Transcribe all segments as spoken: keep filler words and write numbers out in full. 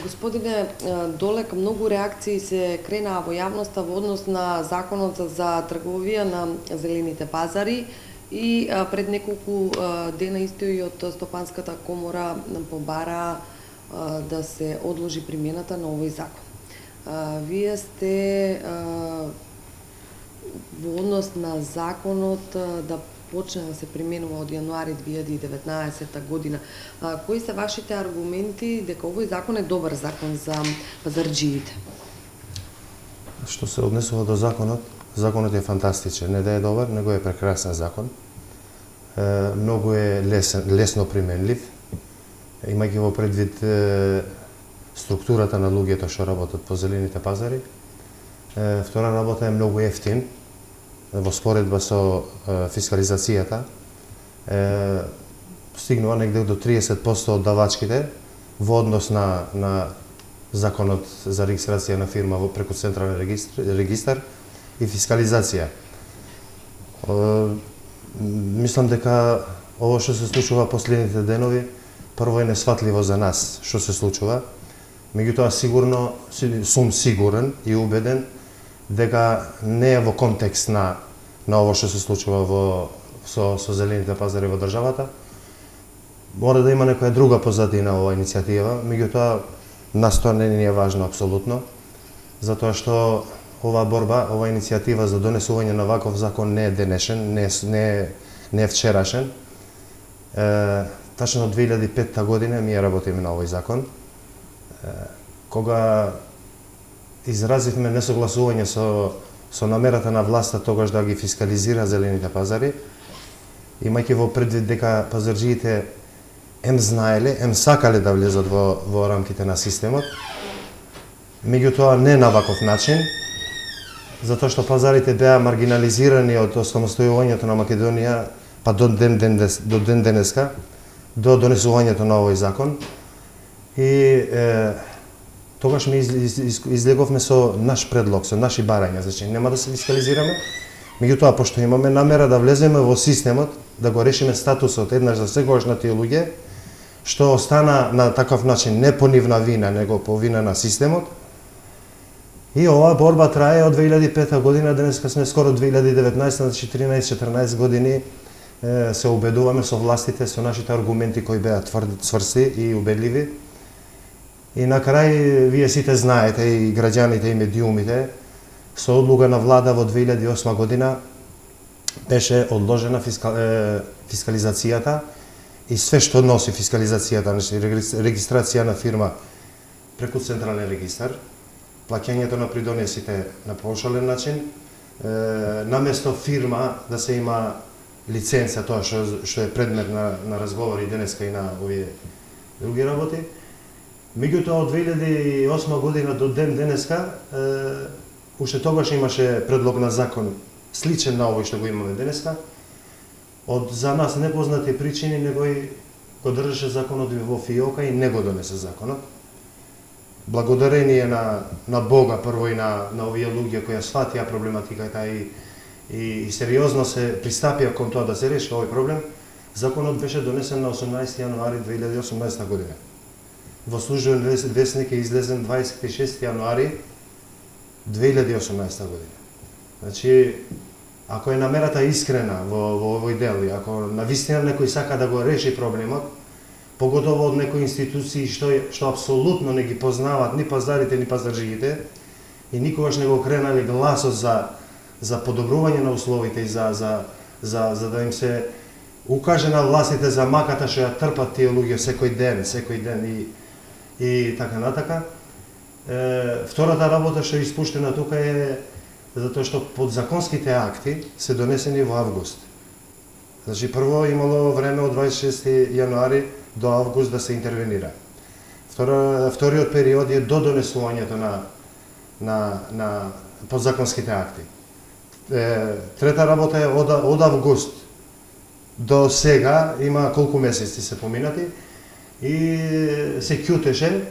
Господине Долек, многу реакции се кренаа во јавноста во однос на законот за трговија на зелените пазари и пред неколку дена исто и од Стопанската комора побара да се одложи примената на овој закон. Вие сте во однос на законот да почне да се применува од јануари две илјади и деветнаесетта година. Кои се вашите аргументи дека овој закон е добар закон за пазарџиите? Што се однесува до законот, законот е фантастичен. Не да е добар, него е прекрасен закон. Е, многу е лесен, лесно применлив, имајќи во предвид е, структурата на луѓето што работат по зелените пазари. Е, втора работа е многу ефтин, во споредба со е, фискализацијата, е, стигнува негде до триесет проценти од давачките во однос на, на законот за регистрација на фирма во преку централен регистр, регистар и фискализација. Е, мислам дека ово што се случува последните денови, прво е несватливо за нас што се случува, меѓутоа сигурно сум сигурен и убеден дека не е во контекст на на ово што се случува во со со зелените пазари во државата. Мора да има некоја друга позадина оваа иницијатива, меѓутоа нас тоа не ни е важно апсолутно, затоа што оваа борба, оваа иницијатива за донесување на ваков закон не е денешен, не е, не е, не е вчерашен. Е, тачно од две илјади и петта година ми работиме на овој закон. Е, кога изразивме несогласување со, со намерата на власта тогаш да ги фискализира зелените пазари, имајќи во предвид дека пазарџиите ем знаеле, ем сакале да влезат во, во рамките на системот, меѓутоа не на ваков начин, затоа што пазарите беа маргинализирани од осамостојувањето на Македонија па до ден, ден, до ден денеска, до донесувањето на овој закон. И е, тогаш ми из, из, излеговме со наш предлог, со наши барања, значи нема да се фискализираме, меѓутоа пошто имаме намера да влеземе во системот, да го решиме статусот еднаш за секогаш на тие луѓе што остана на таков начин не по нивна вина, него по вина на системот. И оваа борба трае од две илјади и петта година, денеска сме скоро две илјади и деветнаесетта, значи тринаесет-четрнаесет години е, се убедуваме со властите, со нашите аргументи кои беа тврди, цврсти и убедливи. И на крај, вие сите знаете, и граѓаните и медиумите, со одлука на влада во две илјади и осма година беше одложена фискал, е, фискализацијата и све што носи фискализацијата, значи регистрација на фирма преку централен регистар, плаќањето на придонесите на поошален начин, е, наместо фирма да се има лиценца, тоа што, што е предмет на, на разговори денеска и на овие други работи. Меѓутоа од две илјади и осма година до ден денеска, е, уште тогаш имаше предлог на закон сличен на овој што го имаме денеска. Од за нас непознати причини негој го држеше законот во фиока и не го донесе законот. Благодарение на, на Бога прво и на, на овие луѓе кои сватија проблематиката и, и, и сериозно се пристапија кон тоа да се реши овој проблем, законот беше донесен на осумнаесети јануари две илјади и осумнаесетта година. Во службен весник е излезен дваесет и шести јануари две илјади и осумнаесетта година. Значи, ако е намерата искрена во, во овој дел, и ако навистина некој сака да го реши проблемот, поготово од некои институции што, што апсолутно не ги познават ни пазарите, ни пазарџиите, и никогаш не го кренали гласот за, за подобрување на условите и за, за, за, за да им се укаже на властите за маката што ја трпат тие луѓе секој ден, секој ден и, и така натака. Е, втората работа што е испуштена тука е затоа што подзаконските акти се донесени во август. Значи, прво имало време од дваесет и шести јануари до август да се интервенира. Втора, вториот период е до донесувањето на, на, на подзаконските акти. Е, трета работа е од, од август до сега, има колку месеци се поминати, и се ќутеше.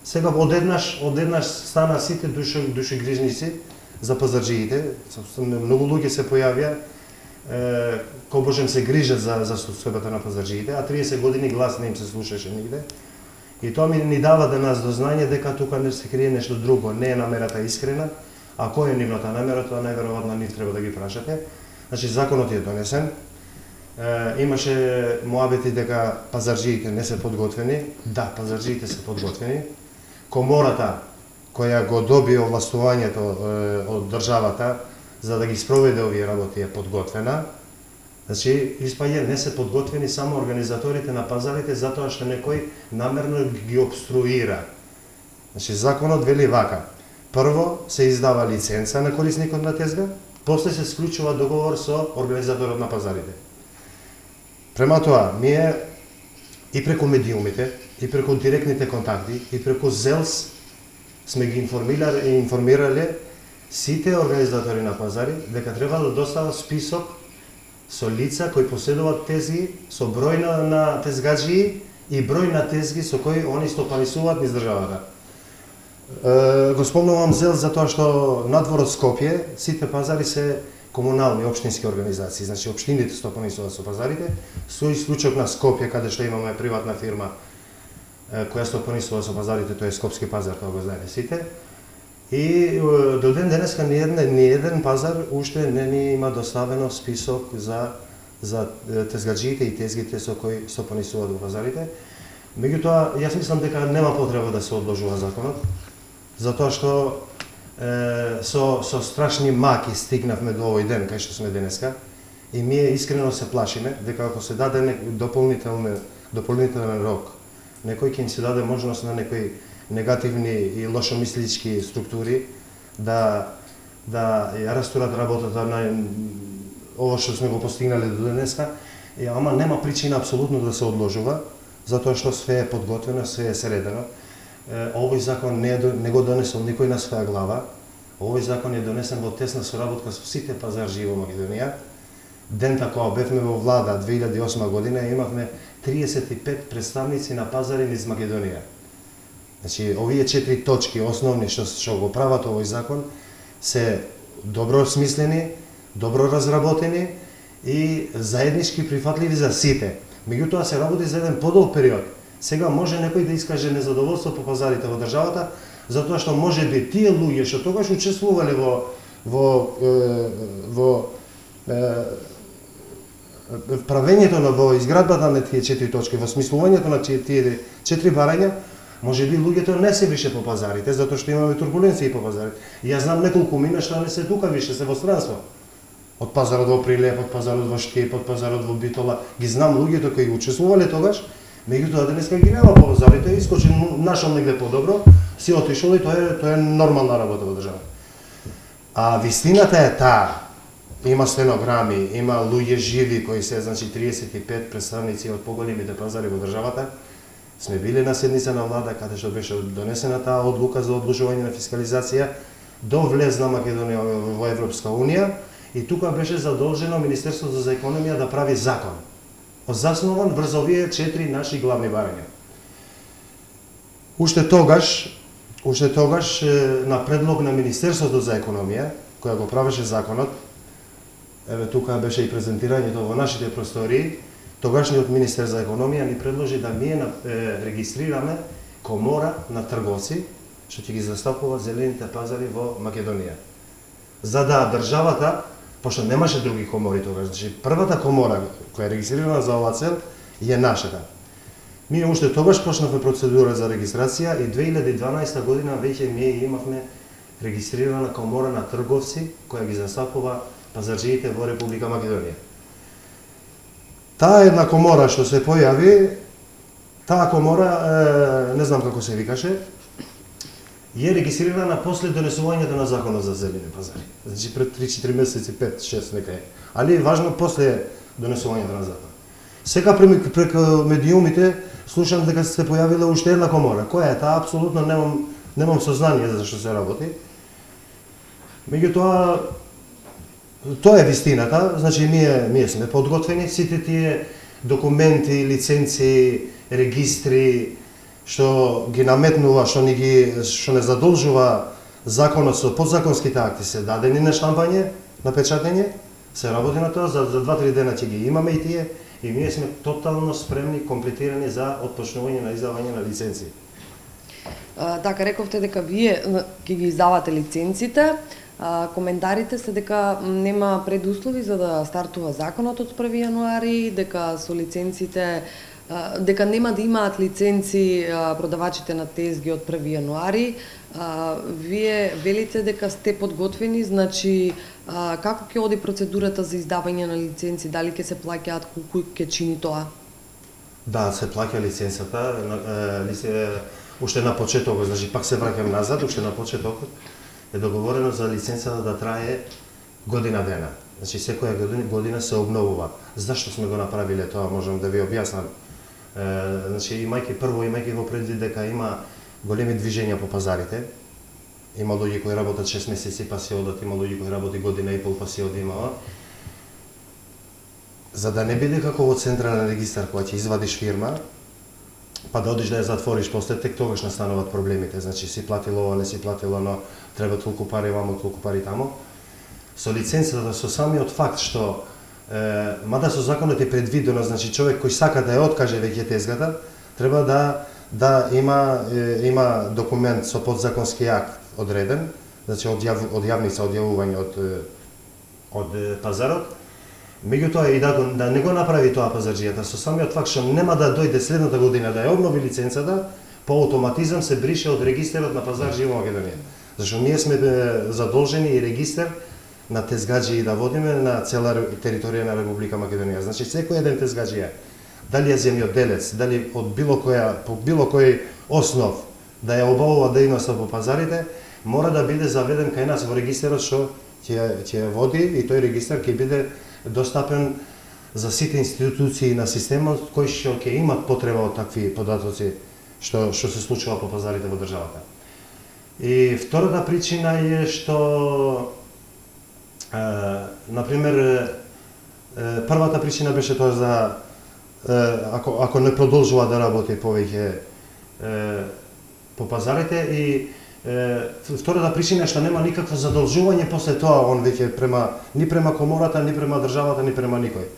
Сега одеднаш, одеднаш стана сите души, души грижници за пазарџиите. Многу луѓе се појавија, е, кој Божем се грижат за, за состојбата на пазарџиите, а триесет години глас не им се слушаше нигде. И тоа ми ни дава да нас до знање дека тука не се крие нешто друго, не е намерата искрена, а која е нивната намера, тоа најверојатно нив треба да ги прашате. Значи, законот е донесен, е, имаше муабети дека пазарџиите не се подготвени, да, пазарџиите се подготвени, комората која го доби овластувањето е, од државата за да ги спроведе овие работи е подготвена. Значи, испаѓа не се подготвени само организаторите на пазарите затоа што некој намерно ги обструира. Значи, законот вели вака. Прво се издава лиценца на корисникот на тезга, после се склучува договор со организаторот на пазарите. Према тоа, ние и преку медиумите, и преку директните контакти, и преку ЗЕЛС сме ги информирале, информирале сите организатори на пазари дека треба да достават список со лица кои поседуваат тезги, со број на, на тезгаджии и број на тезги со кои они стопанисуваат низ државата. Е, го спомнувам ЗЕЛ затоа што надвор од Скопје сите пазари се комунални општински организации, значи општините стопанисуваат со пазарите, со исклучок на Скопје каде што имаме приватна фирма е, која стопанисува со пазарите, тоа е Скопски пазар, тоа го знаеме сите. И до ден денеска ни еден, ни еден пазар уште не ни има доставено список за за тезгаджиите и тезгите со кои стопанисуваат во пазарите. Меѓутоа, јас мислам дека нема потреба да се одложува законот, затоа што е, со со страшни маки стигнавме до овој ден кај што сме денеска и ние искрено се плашиме дека ако се даде дополнителен дополнителен рок, некој ќе им се даде можност на некои негативни и лошомислички структури да да ја растурат работата на ово што сме го постигнале до денеска, и ама нема причина апсолутно да се одложува, затоа што све е подготвено, све е средено. Овој закон не, е, не го донесол никој на своја глава. Овој закон е донесен во тесна соработка со сите пазарџии во Македонија. Дента кога бевме во влада две илјади и осма година имавме триесет и пет представници на пазари низ Македонија. Значи, овие четири точки основни што што го прават овој закон се добро смислени, добро разработени и заеднички прифатливи за сите. Меѓутоа се работи за еден подолг период. Сега може некој да искаже незадоволство по пазарите во државата, затоа што може би тие луѓе што тогаш учествувале во во е, во е, правењето на во изградбата на тие четири точки, во смислувањето на тие четири барања, може би луѓето не се више по пазарите, затоа што имаме турбуленции по пазарите. И јас знам неколку мина што не се тука више, се во странство. Од пазарот во Прилеп, од пазарот во Штип, од пазарот во Битола, ги знам луѓето кои учествувале тогаш, меѓутоа денеска ги нема по пазарите, искочи нашол негде подобро, си отишол и тоа е тоа е нормална работа во државата. А вистината е таа. Има стенограми, има луѓе живи кои се, значи триесет и пет представници од поголемите пазари во државата. Сме били на седница на влада каде што беше донесена таа одлука за одложување на фискализација до влезна Македонија во Европска унија и тука беше задолжено Министерството за економија да прави закон, заснован врз овие четири наши главни барања. Уште тогаш, уште тогаш на предлог на Министерството за економија, која го правеше законот, еве тука беше и презентирањето во нашите простории, тогашниот министер за економија ни предложи да ние е, регистрираме комора на трговци што ќе ги застапуваат зелените пазари во Македонија. За да државата, пошто немаше други комори тогаш, значи првата комора која е регистрирана за оваа цел е нашата. Ние уште тогаш почнавме процедура за регистрација и две илјади и дванаесета година веќе ние имавме регистрирана комора на трговци која ги застапува пазарџиите во Република Македонија. Таа една комора што се појави, таа комора, е, не знам како се викаше, е регистрирана после донесувањето на законот за зелени пазари. Значи пред три-четири месеци, пет шест нека е. Али важно после донесувањето на закон. Сега преку медиумите слушам дека се појавила уште една комора. Која е таа? Апсолутно немам немам сознание за што се работи. Меѓутоа тоа е вистината, значи ние ние сме подготвени, сите тие документи, лиценци, регистри што ги наметнува, што ни ги што не задолжува законот со подзаконските акти се дадени на штампање, на печатење, се работи на тоа, за, за два-три дена ќе ги имаме и тие и ние сме тотално спремни, комплетирани за отпочнување на издавање на лиценци. А, така, рековте дека вие ќе ги издавате лиценците. А, коментарите се дека нема предуслови за да стартува законот од први јануари, дека со лиценците а, дека нема да имаат лиценци а, продавачите на тезги од први јануари. А, вие велите дека сте подготвени, значи а, како ќе оди процедурата за издавање на лиценци, дали ќе се плаќаат, колку ќе чини тоа? Да, се плаќа лиценцата, лице, уште на почетокот, значи пак се враќам назад, уште на почетокот е договорено за лиценцата да трае година дена. Значи секоја година, година се обновува. Зашто сме го направиле тоа, можам да ви објаснам. Е, значи имајќи прво имајќи во предвид дека има големи движења по пазарите. Има луѓе кои работат шест месеци па се одат, има луѓе кои работи година и пол па се одимава. За да не биде како во централен регистар кога ќе извадиш фирма, па да одиш да ја затвориш, после тек тогаш настануваат проблемите. Значи си платил ова, не си платил оно, треба толку пари вамо, толку пари тамо. Со лиценцата, со самиот факт што е, мада со законот е предвидено, значи човек кој сака да ја откаже веќе тезгата, треба да да има е, има документ со подзаконски акт одреден, значи од јав, од јавница од јавување од од пазарот. Меѓутоа и да, да не го направи тоа пазарџијата, со самиот факт што нема да дојде следната година да ја обнови лиценцата, по автоматизам се брише од регистарот на пазарџи во Македонија. Зашто ние сме задолжени и регистар на тезгаџи да водиме на цела територија на Република Македонија. Значи секој еден тезгаџија, дали е земјоделец, дали од било која по било кој основ да ја обавува дејноста по пазарите, мора да биде заведен кај нас во регистарот што ќе ќе води и тој регистар ќе биде достапен за сите институции на системот кои што ќе имат потреба од такви податоци што што се случува по пазарите во државата. И втората причина е што е, на пример е, првата причина беше тоа за е, ако ако не продолжува да работи повеќе е, по пазарите и втората причина е што нема никакво задолжување после тоа он веќе према ни према комората, ни према државата, ни према никој.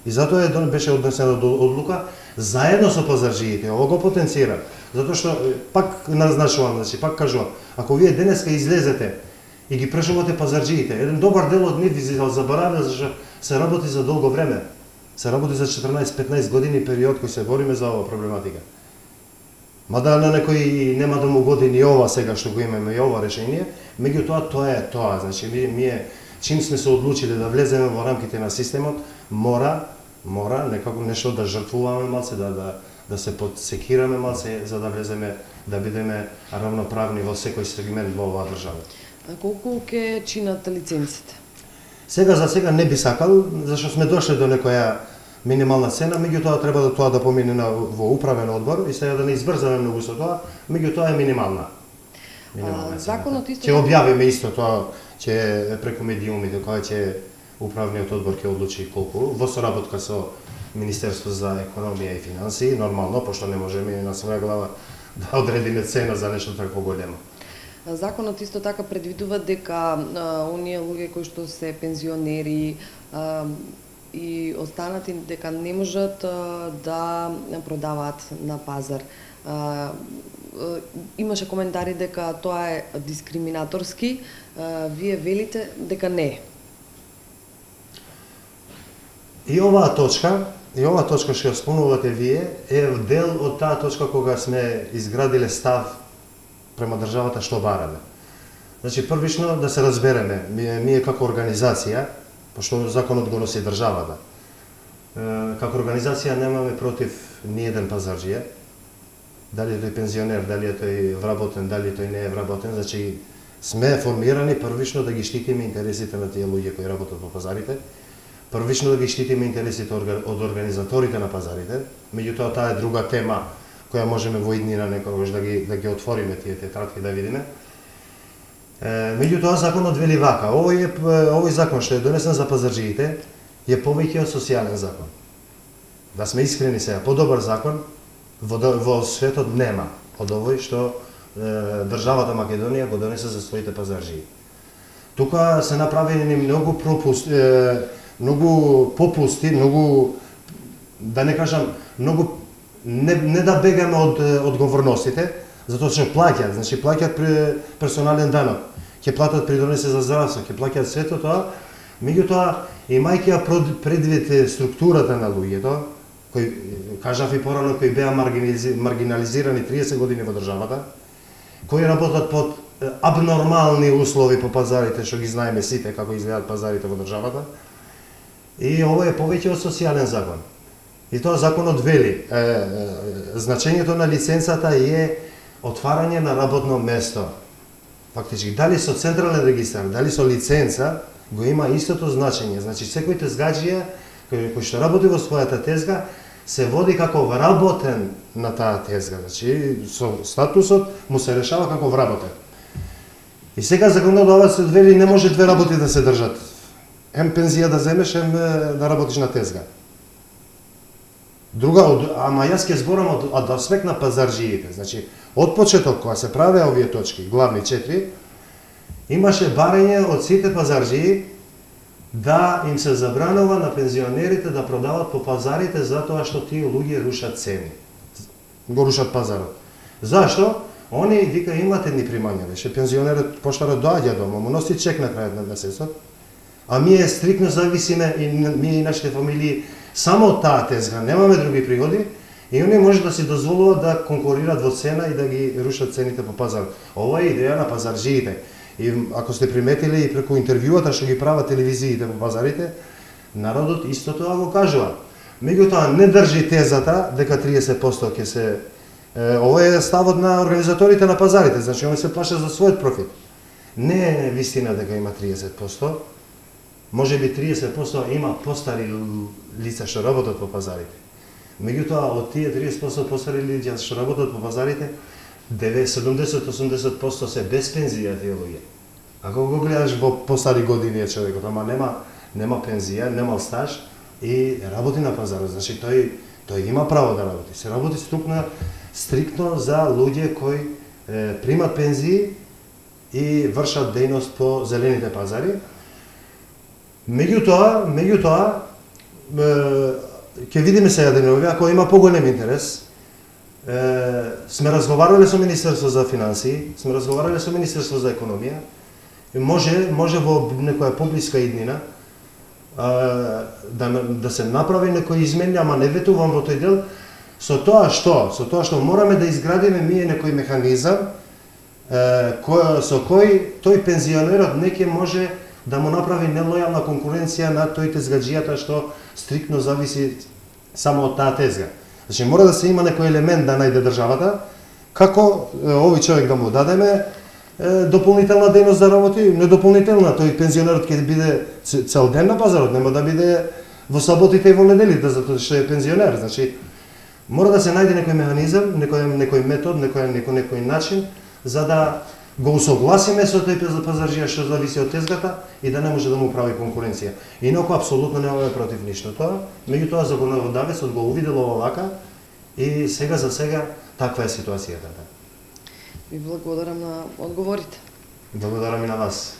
И затоа е беше однесена одлука заедно со пазарџиите. Ово го потенцира, затоа што пак назначувам, значи пак кажувам, ако вие денеска излезете и ги прашувате пазарџиите, еден добар дел од нив ви заборавија зашто се работи за долго време. Се работи за четрнаесет-петнаесет години период кој се бориме за оваа проблематика. Мада на некој нема да му годи ни ова сега што го имаме и ова решение, меѓутоа тоа е тоа, значи ние чим сме се одлучиле да влеземе во рамките на системот, мора мора некако нешто да жртвуваме малце, да да да се подсекираме малце за да влеземе, да бидеме равноправни во секој сегмент во оваа држава. А колку ќе чинат лиценците? Сега за сега не би сакал, зашто сме дошле до некоја минимална цена, меѓутоа треба да тоа да помине на, во управен одбор и сега да не избрзаме многу со тоа, меѓутоа е минимална. Минимална цена. Законот исто ќе објавиме исто тоа, ќе преку медиумите кога ќе управниот одбор ќе одлучи колку во соработка со Министерство за економија и финансии, нормално, пошто не можеме на своја глава да одредиме цена за нешто такво големо. Законот исто така предвидува дека а, оние луѓе кои што се пензионери а, и останати дека не можат а, да продаваат на пазар. А, а, имаше коментари дека тоа е дискриминаторски. А, вие велите дека не е. И оваа точка, и оваа точка што ја спомнувате вие, е дел од таа точка кога сме изградиле став према државата што бараме. Значи, првично да се разбереме, ние, ние како организација, пошто законот го носи државата, како организација немаме против ни еден пазарџија, дали тој пензионер, дали е тој вработен, дали тој не е вработен, значи сме формирани првично да ги штитиме интересите на тие луѓе кои работат по пазарите, првично да ги штитиме интересите од организаторите на пазарите, меѓутоа таа е друга тема која можеме во иднина некогаш да ги да ги отвориме тие тетрадки да видиме. Меѓутоа законот вели вака, овој е овој закон што е донесен за пазарџиите е повеќе од социјален закон. Да сме искрени сега, подобар закон во во светот нема од овој што е, државата Македонија го донесе за своите пазарџии. Тука се направени многу пропусти, е, многу попусти, многу да не кажам, многу не, не да бегаме од одговорностите, затоа што плаќаат, значи плаќаат персонален данок, ќе платат придонеси за здравство, ќе плаќаат сето тоа, меѓутоа имајќи ја предвид структурата на луѓето, кои кажав и порано, кои беа маргинализирани триесет години во државата, кои работат под абнормални услови по пазарите, што ги знаеме сите како изгледаат пазарите во државата. И ова е повеќе од социјален закон. И тоа законот вели, е, е, значењето на лиценцата е отварање на работно место. Фактички, дали со централен регистар, дали со лиценца, го има истото значење. Значи, секој тезгаџија кој што работи во својата тезга, се води како вработен на таа тезга. Значи, со статусот му се решава како вработен. И сега законодавецот вели не може две работи да се држат. Ем пензија да земеш, ем да работиш на тезга. Друга, ама јас ќе зборам од, од аспект на пазарџиите. Значи, од почеток, кога се правеа овие точки, главни четири, имаше барање од сите пазарџии да им се забранува на пензионерите да продават по пазарите затоа што тие луѓе рушат цени. Го рушат пазарот. Зашто? Они вика имат едни примања, веше пензионерот поштарот доаѓа дома, му носи чек на крајот на месецот, а ние стрикно зависиме и ние и нашите фамилии само од таа тезга, немаме други приходи и они може да си дозволуваат да конкурираат во цена и да ги рушат цените по пазарот. Ова е идеја на пазарџиите. И ако сте приметили и преку интервјуата што ги прават телевизиите по пазарите, народот исто тоа го кажува. Меѓутоа не држи тезата дека триесет проценти ќе се е, ова е ставот на организаторите на пазарите, значи они се плашат за својот профит. Не е вистина дека има триесет проценти. Може би триесет проценти има постари лица што работат по пазарите. Меѓутоа од тие триесет проценти постари лица што работат по пазарите, седумдесет до осумдесет проценти се без пензија тие луѓе. Ако го гледаш во постари години е човекот, ама нема нема пензија, нема стаж и работи на пазарот, значи тој тој има право да работи. Се работи структно стриктно за луѓе кои е, примат пензии и вршат дејност по зелените пазари. Меѓутоа, меѓутоа ќе видиме сега денови, ако има поголем интерес. Е, сме разговарале со Министерство за финансии, сме разговарале со Министерство за економија, и може, може во некоја поблиска иднина а, да, да се направи некои измени, ама не ветувам во тој дел, со тоа што, со тоа што мораме да изградиме ние некој механизам е, кој, со кој тој пензионерот не ќе може да му направи нелојална конкуренција на тој тезгаџијата што стриктно зависи само од таа тезга. Значи, мора да се има некој елемент да најде државата, како овој човек да му дадеме е, дополнителна дејност да работи, не дополнителна, тој пензионерот ќе биде цел ден на пазарот, нема да биде во саботите и во неделите, затоа што е пензионер. Значи, мора да се најде некој механизам, некој, некој метод, некој, некој, некој начин, за да го усогласиме со тој пазарџија што зависи од тезгата и да не може да му прави конкуренција. Инаку апсолутно немаме против ништо тоа, меѓутоа законодавецот го увидел ова вака и сега за сега таква е ситуацијата. Ви благодарам на одговорите. Благодарам и на вас.